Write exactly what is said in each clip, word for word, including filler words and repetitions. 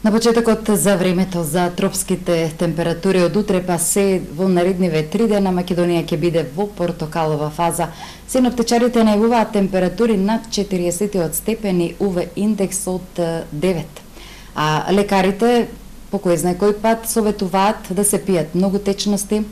На почетокот за времето за тропските температури од утре па се во наредниве три дена Македонија ќе биде во портокалова фаза. Синоптичарите најавуваат температури над четириесет степени У В индекс од девет. А лекарите по кој знае кој пат советуваат да се пијат многу течности,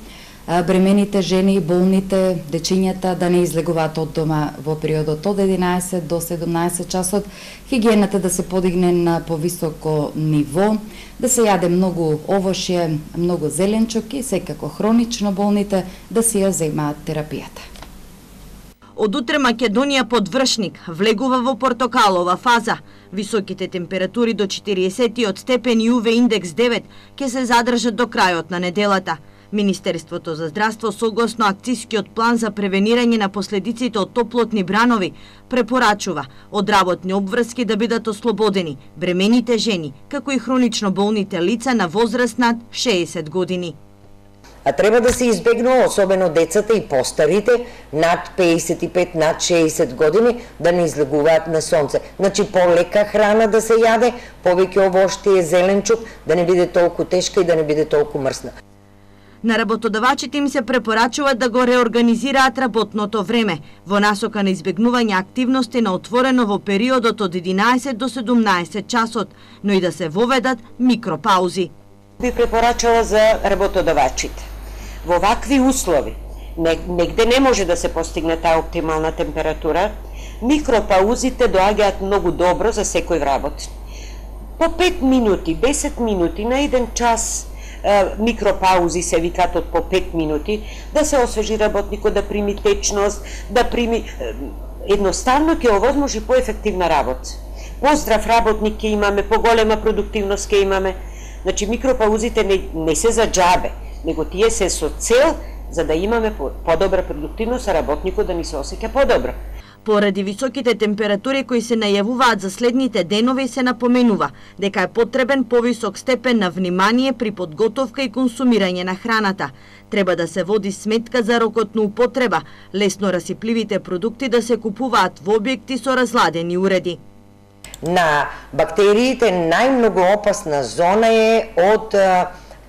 бремените жени, болните, дечињата да не излегуваат од дома во периодот од единаесет до седумнаесет часот, хигиената да се подигне на повисоко ниво, да се јаде многу овошје, многу зеленчук и секако хронично болните да си ја земаат терапијата. Од утре Македонија под вршник влегува во портокалова фаза. Високите температури до четириесет степени У В индекс девет ќе се задржат до крајот на неделата. Министерството за здравство согласно акцијскиот план за превенирање на последиците од топлотни бранови препорачува од работни обврски да бидат ослободени бремените жени, како и хронично болните лица на возраст над шеесет години. А треба да се избегнува особено децата и постарите над пеесет и пет, над шеесет години да не излегуваат на сонце. Значи полека храна да се јаде, повеќе овоштие, зеленчук, да не биде толку тешка и да не биде толку мрсна. На работодавачите им се препорачува да го реорганизираат работното време во насока на избегнување активности на отворено во периодот од единаесет до седумнаесет часот, но и да се воведат микропаузи. Би препорачала за работодавачите. Во вакви услови, негде не може да се постигне таа оптимална температура, микропаузите доаѓаат многу добро за секој вработен. По пет минути, десет минути на еден час микропаузи се викаат од по пет минути, да се освежи работникот, да прими течност, да прими... Едноставно ќе овозможи поефективна работа. Поздрав работник ќе имаме, поголема продуктивност ќе имаме. Значи, микропаузите не, не се за џабе, него тие се со цел за да имаме подобра продуктивност, а работникот да ни се осеќа подобро. Поради високите температури кои се најавуваат за следните денови се напоменува дека е потребен повисок степен на внимание при подготовка и консумирање на храната. Треба да се води сметка за рокот на употреба, лесно расипливите продукти да се купуваат во објекти со разладени уреди. На бактериите најмногу опасна зона е од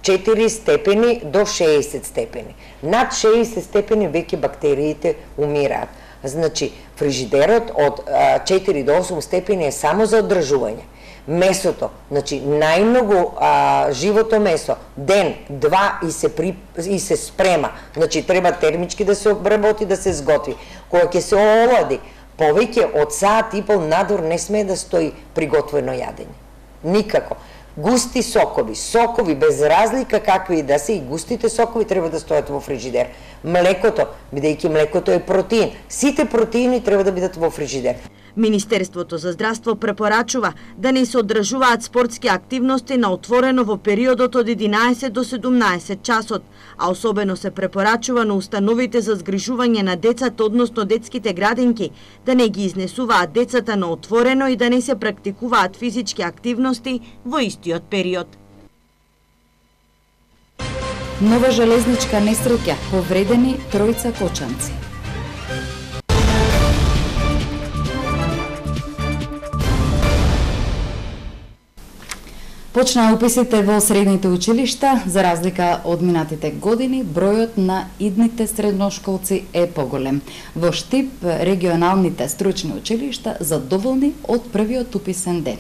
четири степени до шеесет степени. Над шеесет степени веќе бактериите умираат. Значи, фрижидерот од четири до осум степени е само за одржување. Месото, значи најмногу а, живото месо, ден, два и се, при, и се спрема. Значи, треба термички да се обработи, да се сготви. Кога ќе се олади, повеќе од саат и пол надвор не смее да стои приготвено јадење. Никако. Густи сокови, сокови без разлика какви и да се, и густите сокови треба да стојат во фрижидер. Млекото, бидејќи млекото е протеин, сите протеини треба да бидат во фрижидер. Министерството за здравство препорачува да не се одржуваат спортски активности на отворено во периодот од единаесет до седумнаесет часот, а особено се препорачува на установите за згрижување на децата, односно детските градинки, да не ги изнесуваат децата на отворено и да не се практикуваат физички активности во истиот период. Нова железничка несреќа, повредени тројца кочанци. Почнаа уписите во средните училишта, за разлика од минатите години, бројот на идните средношколци е поголем. Во Штип, регионалните стручни училишта задоволни од првиот уписен ден.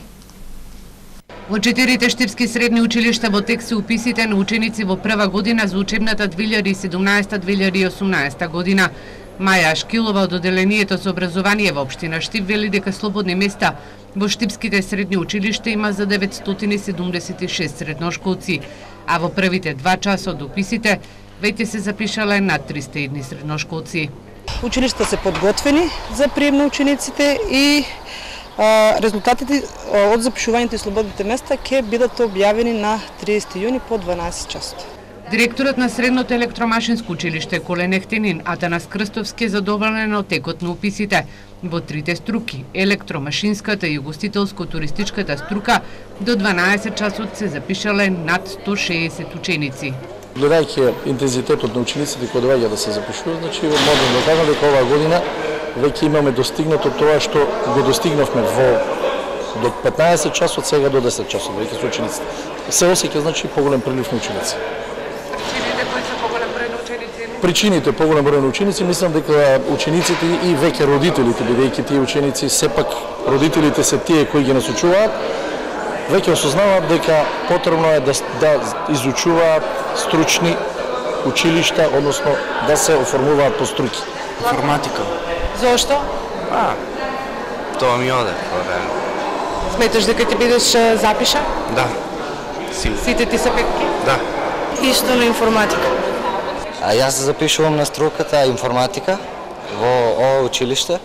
Во четирите штипски средни училишта во тек се уписите на ученици во прва година за учебната две илјади и седумнаесета две илјади и осумнаесета година. Маја Ашкилова од Оделението за образование во општина Штип вели дека слободни места во штипските средни училишта има за деветстотини седумдесет и шест средношколци, а во првите два часа од уписите веќе се запишале над триста едни средношколци. Училишта се подготвени за прием на учениците и а, резултатите од запишувањето и слободните места ќе бидат објавени на триесети јуни по дванаесет часот. Директорот на Средното електромашинско училиште Колен Ехтенин Атанас Крстовски е задоволен од текот на уписите во трите струки – електромашинската и угостителско-туристичката струка. До дванаесет часот се запишале над сто шеесет ученици. Гледајќи интензитетот на учениците кои доаѓаат да се запишуваат, значи можеме да кажеме дека оваа година веќе имаме достигнато тоа што го достигнавме во до петнаесет часот, сега до десет часот, веќе со учениците. Се осеќа, значи, поголем прилив на ученици. Причините кои се поголем број на ученици? Причините поголем број на ученици, мислам дека учениците и веќе родителите, бидејќи тие ученици сепак родителите се тие кои ги насочуваат, веќе осознаваат дека потребно е да, да изучуваат стручни училишта, односно да се оформуваат по струки. Информатика. Зошто? А, тоа ми оде по време. Сметаш дека ќе бидеш запиша? Да. Си. Сите ти се петки? Да. Исто на информатика. А јас се запишувам на струката информатика во ова училиште.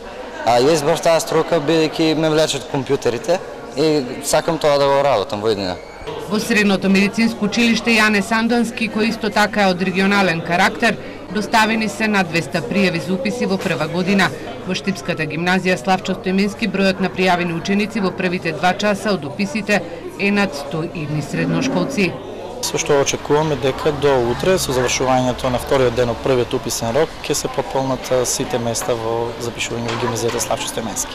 А ја избрав таа струка бидејќи ме влечат компјутерите и сакам тоа да го работам во иднина. Во Средното медицинско училиште Јане Сандански, кој исто така е од регионален карактер, доставени се над двеста пријави за уписи во прва година. Во Штипската гимназија Славчо Стоименски бројот на пријавени ученици во првите два часа од уписите е над сто едни средношколци. Со што очекуваме дека до утре, со завршувањето на вториот ден од првиот уписен рок, ќе се пополнат сите места во запишување во гимназијата Славчо Стоименски.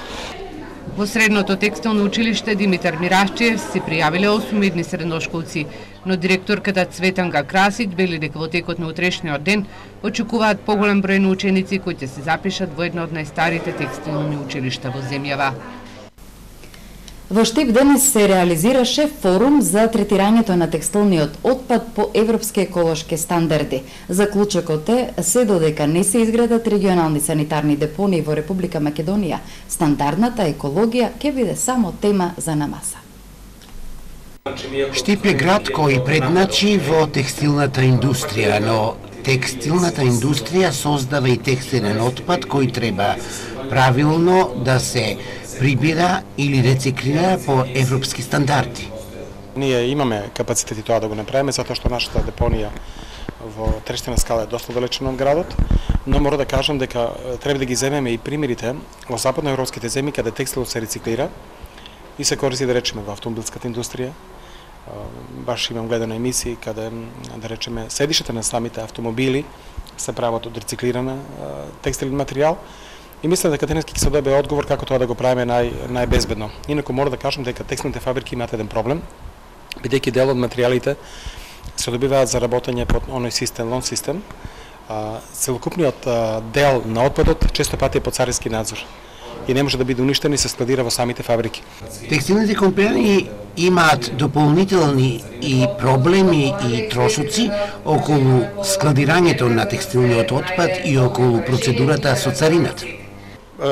Во Средното текстилно училиште Димитар Мирашчиев се пријавиле осум едни средношколци, но директорката Цветанка Красич вели дека во текот на утрешниот ден очекуваат поголем број на ученици кои ќе се запишат во едно од најстарите текстилни училишта во земјава. Во Штип денес се реализираше форум за третирањето на текстилниот отпад по европски еколошки стандарди. Заклучокот е, се додека не се изградат регионални санитарни депонии во Република Македонија, стандардната екологија ќе биде само тема за намаса. Штип е град кој предначи во текстилната индустрија, но текстилната индустрија создава и текстилен отпад кој треба правилно да се прибира или рециклира по европски стандарди. Ние имаме капацитети тоа да го направиме, затоа што нашата депонија во Трештина скала е доста далечна од градот, но мора да кажам дека треба да ги земеме и примерите во западноевропските земји каде текстилот се рециклира и се користи, да речеме, во автомобилската индустрија. Баш имам гледано емисии каде, да речеме, седишите на самите автомобили се прават од рециклиран текстилен материјал. И мислам дека денес ќе се добие одговор како тоа да го правиме нај најбезбедно. Инаку мора да кажам дека текстилните фабрики имаат еден проблем, бидејќи дел од материјалите се добиваат за работење под оној систем, лон систем. Целокупниот дел на отпадот често пати е под царински надзор и не може да биде уништен и се складира во самите фабрики. Текстилните компании имаат дополнителни и проблеми и трошоци околу складирањето на текстилниот отпад и околу процедурата со царината.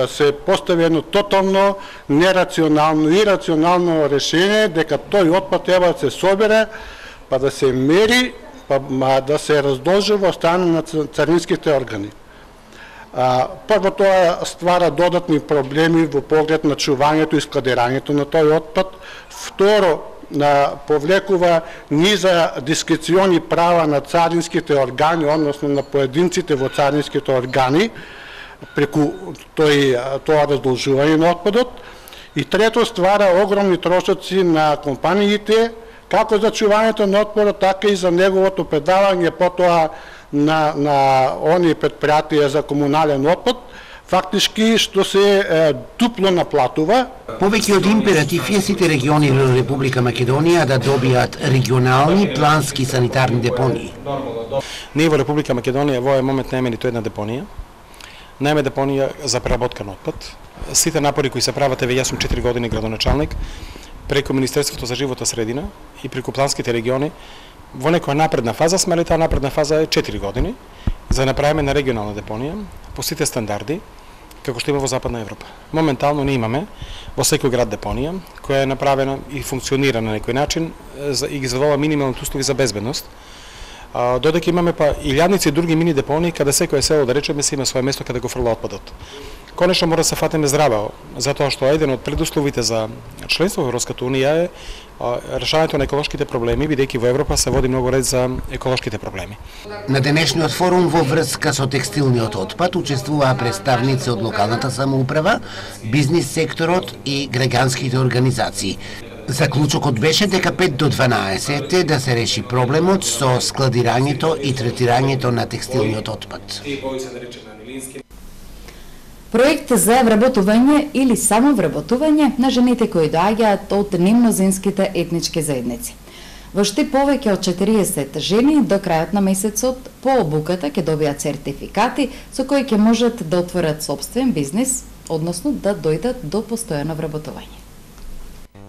Се постави едно тотално нерационално и рационално решение дека тој отпад треба да се собере, па да се мери, па да се раздолжи во страна на царинските органи. Прво, тоа ствара додатни проблеми во поглед на чувањето и складирањето на тој отпад. Второ, повлекува низа дискрециони права на царинските органи, односно на поединците во царинските органи, преку тој, тоа раздолжување на отпадот. И трето, ствара огромни трошоци на компаниите, како за чувањето на отпадот, така и за неговото предавање потоа на, на они предпријатија за комунален отпад, фактички што се е, дупло наплатува. Повеќе од императив е сите региони во Република Македонија да добијат регионални плански санитарни депонии. Ние во Република Македонија во овој момент немаме ниту една депонија. Немаме депонија за преработка на отпад. Сите напори кои се прават, еве јас сум четири години градоначалник, преку Министерството за животна средина и преку планските региони, во некоја напредна фаза сме, али таа напредна фаза е четири години, за да направиме на регионална депонија по сите стандарди, како што има во Западна Европа. Моментално не имаме во секој град депонија, која е направена и функционира на некој начин и ги задоволува минималните услови за безбедност. Додека имаме па илјадници и други мини депонии, каде секој село, да речеме, се има свое место каде го фрла отпадот. Конечно мора да се фатиме здраво, затоа што еден од предусловите за членство во Европската унија е решавањето на еколошките проблеми, бидејќи во Европа се води многу ред за еколошките проблеми. На денешниот форум во врска со текстилниот отпад учествуваа представници од локалната самоуправа, бизнис секторот и граѓанските организации. Заклучокот беше дека пет до дванаесет е да се реши проблемот со складирањето и третирањето на текстилниот отпад. Проект за вработување или само вработување на жените кои доаѓаат од немнозинските етнички заедници. Во Штип повеќе од четириесет жени до крајот на месецот по обуката ќе добијат сертификати со кои ќе можат да отворат сопствен бизнис, односно да дојдат до постојано вработување.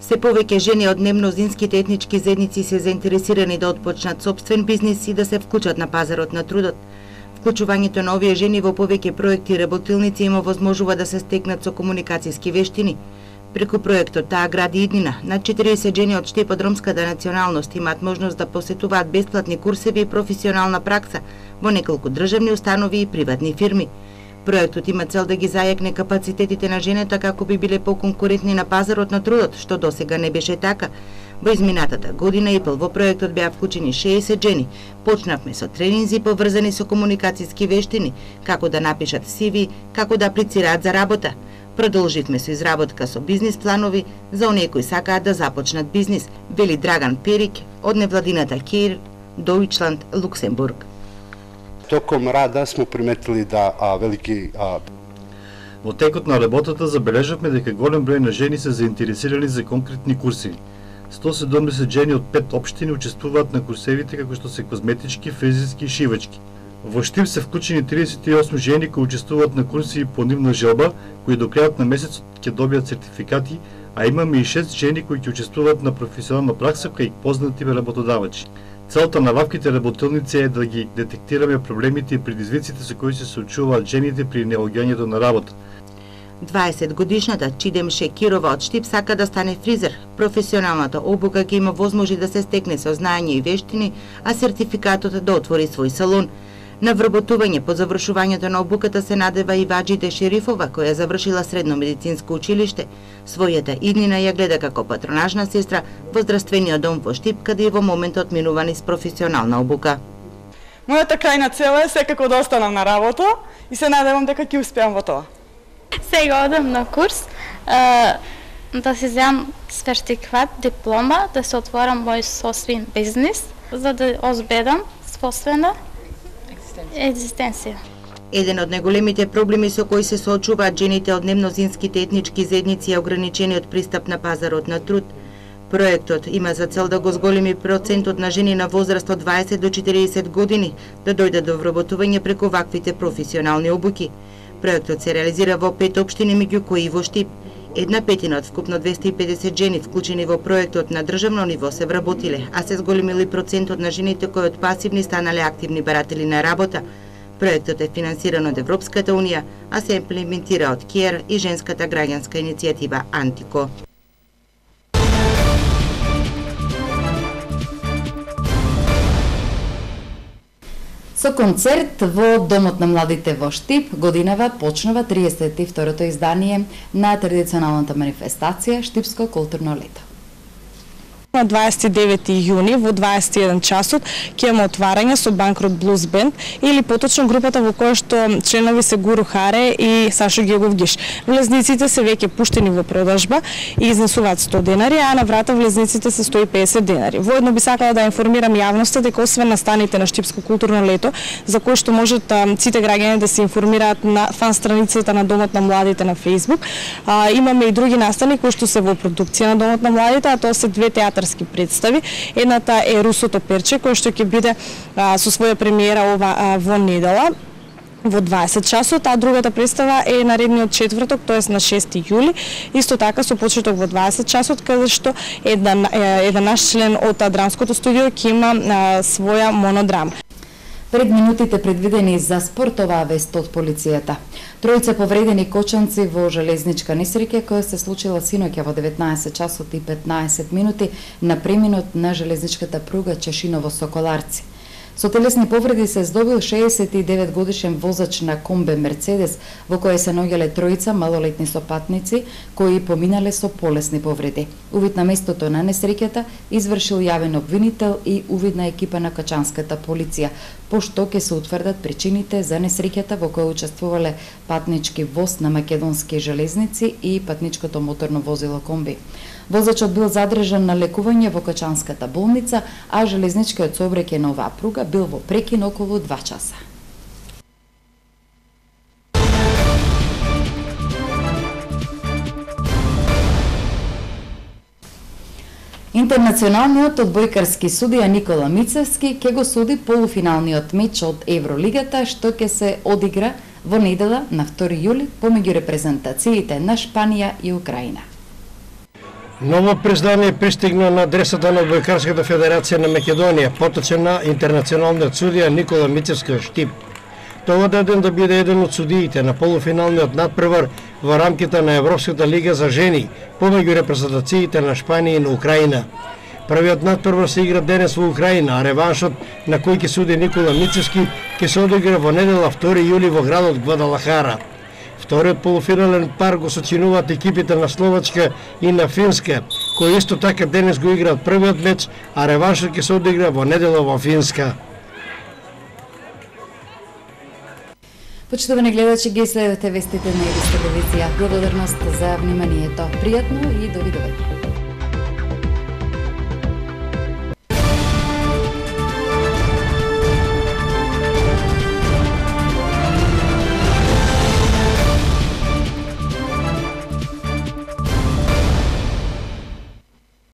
Се повеќе жени од немнозинските етнички заедници се заинтересирани да отпочнат сопствен бизнис и да се вклучат на пазарот на трудот. Вклучувањето на овие жени во повеќе проекти и работилници им овозможува да се стекнат со комуникацијски вештини. Преку проектот Таа гради иднина, над четириесет жени од Штип од ромската националност имаат можност да посетуваат бесплатни курсеви и професионална пракса во неколку државни установи и приватни фирми. Проектот има цел да ги зајакне капацитетите на жените како би биле поконкурентни на пазарот на трудот, што досега не беше така. Во изминатата година и пол во проектот беа вклучени шеесет жени. Почнавме со тренинзи поврзани со комуникацијски вештини, како да напишат си ви, како да аплицираат за работа. Продолживме со изработка со бизнис планови за оние кои сакаат да започнат бизнис, вели Драган Перик од невладината Кеир Дојчланд, Луксембург. Током рада смо приметили да а, велики а... Во текот на работата забележавме дека голем број на жени се заинтересирани за конкретни курси. сто седумдесет жени од пет општини учествуваат на курсевите како што се козметички, фризерски и шивачки. Во Штип се вклучени триесет и осум жени кои учествуваат на курси по нивна желба, кои до крајот на месецот ќе добијат сертификати, а имаме и шест жени кои ќе учествуваат на професионална пракса кај познати работодавачи. Целта на ваквите работилници е да ги детектираме проблемите и предизвиците со кои се соочуваат жените при наоѓањето на работа. дваесет годишната Чидем Шекирова од Штип сака да стане фризер. Професионалната обука ќе има возможи да се стекне со знаење и вештини, а сертификатот да отвори свој салон. На вработување по завршувањето на обуката се надева и Ваџиде Шерифова, која завршила средно медицинско училиште. Својата иднина ја гледа како патронажна сестра во здравствениот дом во Штип, каде и во моментот минува низ професионална обука. Мојата крајна цел е секако да останам на работа и се надевам дека ќе успеам во тоа. Сега одам на курс а, да се земам сертификат, диплома, да се отворам мој собствен бизнис, за да озбедам собствена екзистенција. Еден од најголемите проблеми со кои се соочуваат жените од немнозинските етнички заедници е ограничениот пристап на пазарот на труд. Проектот има за цел да го зголеми процентот на жени на возраст од дваесет до четириесет години да дојдат до вработување преку ваквите професионални обуки. Проектот се реализира во пет општини, меѓу кои и во Штип. Една петина од вкупно двесте и педесет жени вклучени во проектот на државно ниво се вработиле, а се зголемили процентот на жените кои од пасивни станале активни баратели на работа. Проектот е финансиран од Европската унија, а се имплементира од КЕР и женската граѓанска иницијатива Антико. Со концерт во Домот на младите во Штип, годинава почнува триесет и второто издание на традиционалната манифестација Штипско културно лето. На дваесет и девети јуни во дваесет и еден часот ќе има отварање со Банкрот Блуз Бенд или поточно групата во која што членови се Гуру Харе и Сашо Гегов Гиш. Влезниците се веќе пуштени во продажба и изнесуваат сто денари, а на врата влезниците се сто и песет денари. Воедно би сакала да информирам јавноста дека освен настаните на Штипско културно лето, за кои што можат сите граѓани да се информираат на фан страницата на Домот на младите на Facebook, а, имаме и други настани кои што се во продукција на Домот на младите, а тоа се две театарски представи. Едната е Русото перче, кој што ќе биде а, со своја премиера ова а, во недела во дваесет часот, а другата представа е наредниот четврток, тоест на шести јули, исто така со почеток во дваесет часот, каде што еден, еден наш член од драмското студио ќе има а, своја монодрама. Пред минутите предвидени за спортова вест од полицијата. Тројца повредени кочанци во железничка несреќа која се случила синоќа во деветнаесет часот и петнаесет минути на преминот на железничката пруга Чешиново-Соколарци. Со телесни повреди се здобил шеесет и девет годишен возач на комбе Мерцедес, во која се наоѓале тројца малолетни сопатници кои поминале со полесни повреди. Увид на местото на несреќата извршил јавен обвинител и увидна екипа на качанската полиција, пошто ќе се утврдат причините за несреќата во која учествувале патнички воз на македонски железници и патничкото моторно возило комби. Возачот бил задржан на лекување во Качанската болница, а железничкиот сообраќај на оваа пруга бил во прекин околу два часа. Интернационалниот одбојкарски судија Никола Мицевски ќе го суди полуфиналниот меч од Евролигата што ќе се одигра во недела на втори јули помеѓу репрезентациите на Шпанија и Украина. Ново признание пристигна на адресата на Одбојкарската федерација на Македонија, поточена интернационалниот судија Никола Мицевски од Штип. Тоа даден да биде еден од судиите на полуфиналниот надпревар во рамките на Европската лига за жени помеѓу репрезентациите на Шпанија и на Украина. Првиот надпревар се игра денес во Украина, а реваншот на кој ќе суди Никола Мицевски ќе се одигра во недела втори јули во градот Гвадалахара. Вториот полуфинален пар го сочинуваат екипите на Словачка и на Финска, кои исто така денес го играат првиот меч, а реваншот ќе се одигра во недела во Финска. Почитувани гледачи, ги следете вестите на Ирис телевизија. Благодарност за вниманието. Пријатно и довидување.